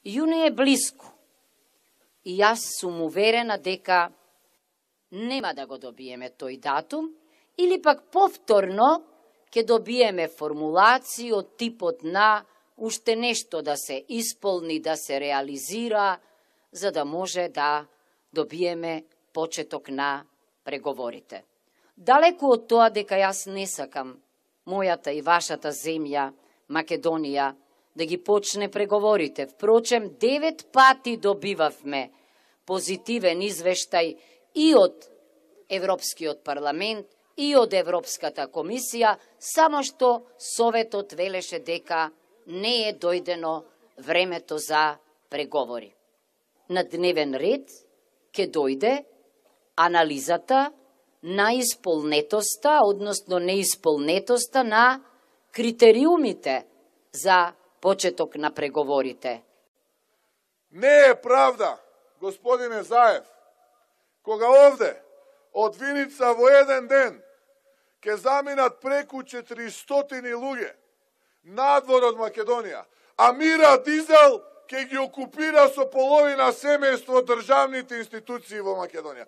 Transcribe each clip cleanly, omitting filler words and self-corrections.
Јуни е блиску. И јас сум уверена дека нема да го добиеме тој датум, или пак повторно ќе добиеме формулација од типот на уште нешто да се исполни, да се реализира, за да може да добиеме почеток на преговорите. Далеку од тоа дека јас не сакам мојата и вашата земја, Македонија, да ги почне преговорите. Впрочем, 9 пати добивавме позитивен извештај и од Европскиот парламент, и од Европската комисија, само што Советот велеше дека не е дојдено времето за преговори. На дневен ред ќе дојде анализата на исполнетоста, односно неисполнетоста на критериумите за почеток на преговорите. Не е правда, господине Заев, кога овде од Виница во еден ден ќе заминат преку 400 луѓе надвор од Македонија, а Мира Дизел ќе ги окупира со половина семејство државните институции во Македонија.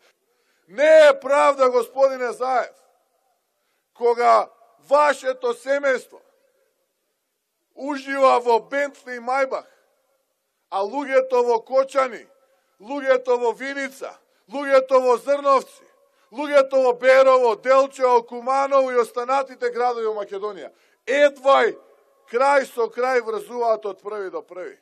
Не е правда, господине Заев, кога вашето семејство ужива во Бентли и Мајбах, а луѓето во Кочани, луѓето во Виница, луѓето во Зрновци, луѓето во Берово, Делчево, Куманово и останатите градови во Македонија едвај крај со крај врзуваат од први до први.